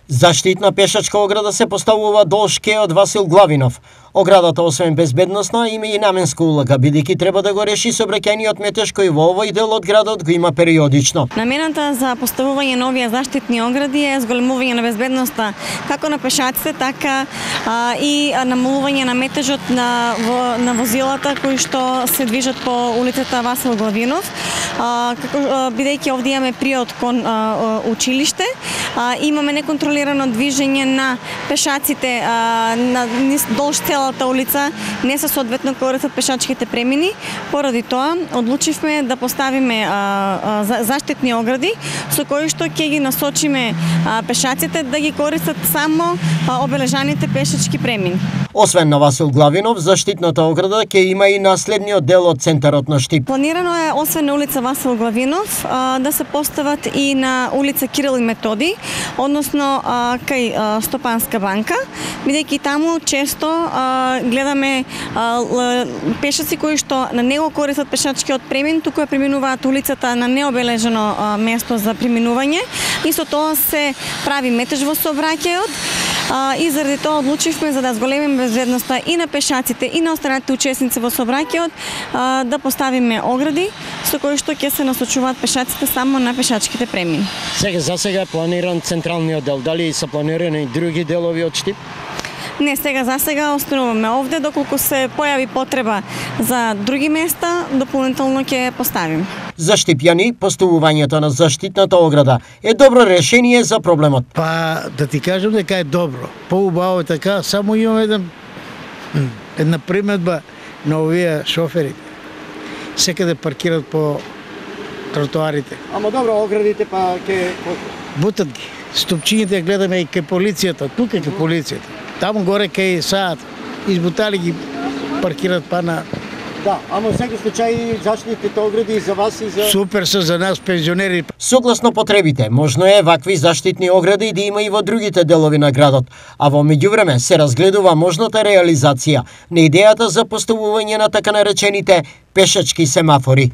Заштитна пешачка ограда се поставува долж кеот Васил Главинов. Оградата освен безбедносна има и наменска улога, бидејќи треба да го реши сообраќајниот метеж кој во овој дел од градот го има периодично. Намената за поставување на овие заштитни огради е зголемување на безбедноста како на пешаците, така и намалување на метежот на возилата кои што се движат по улицата Васил Главинов, бидејќи овде имаме приод кон училиште, имаме неконтролирано движење на пешаците на долж целата улица, не се соодветно користат пешачките премини. Поради тоа одлучивме да поставиме заштитни огради со кои што ќе ги насочиме пешаците да ги користат само обележаните пешачки премини. Освен на Васил Главинов, заштитната ограда ќе има и на следниот дел од центарот на Штип. Планирано е освен на улица Васил Главинов да се постават и на улица Кирил и Методи, односно кај Стопанска банка, бидејќи таму често гледаме пешаци кои што на него користат пешачкиот премин, туку ја преминуваат улицата на необележено место за преминување и со тоа се прави метеж во сообраќајот и заради тоа одлучивме за да зголемиме безбедноста и на пешаците и на останатите учесници во сообраќајот да поставиме огради со кои што ќе се насочуваат пешаците само на пешачките премини. За сега е планиран централниот дел, дали се планирани и други делови од Штип? Не, за сега остануваме овде, доколку се појави потреба за други места, дополнително ќе поставим. За штипјани, поставувањето на заштитната ограда е добро решение за проблемот. Па, да ти кажам дека е добро. Поубаво е така, само имам една приметба на овие шофери. Секаде паркираат по тротоарите. Ама добро, оградите па ќе бутат ги. Стопчињите гледаме и кај полицијата, тука кај полицијата. Таму горе кај саат избутали ги паркираат па на. Да, ама во секој случај заштитните огради за вас и за супер се за нас пензионери. Согласно потребите, можно е вакви заштитни огради да има и во другите делови на градот, а во меѓувреме се разгледува можната реализација на идејата за поставување на така наречените пешачки семафори.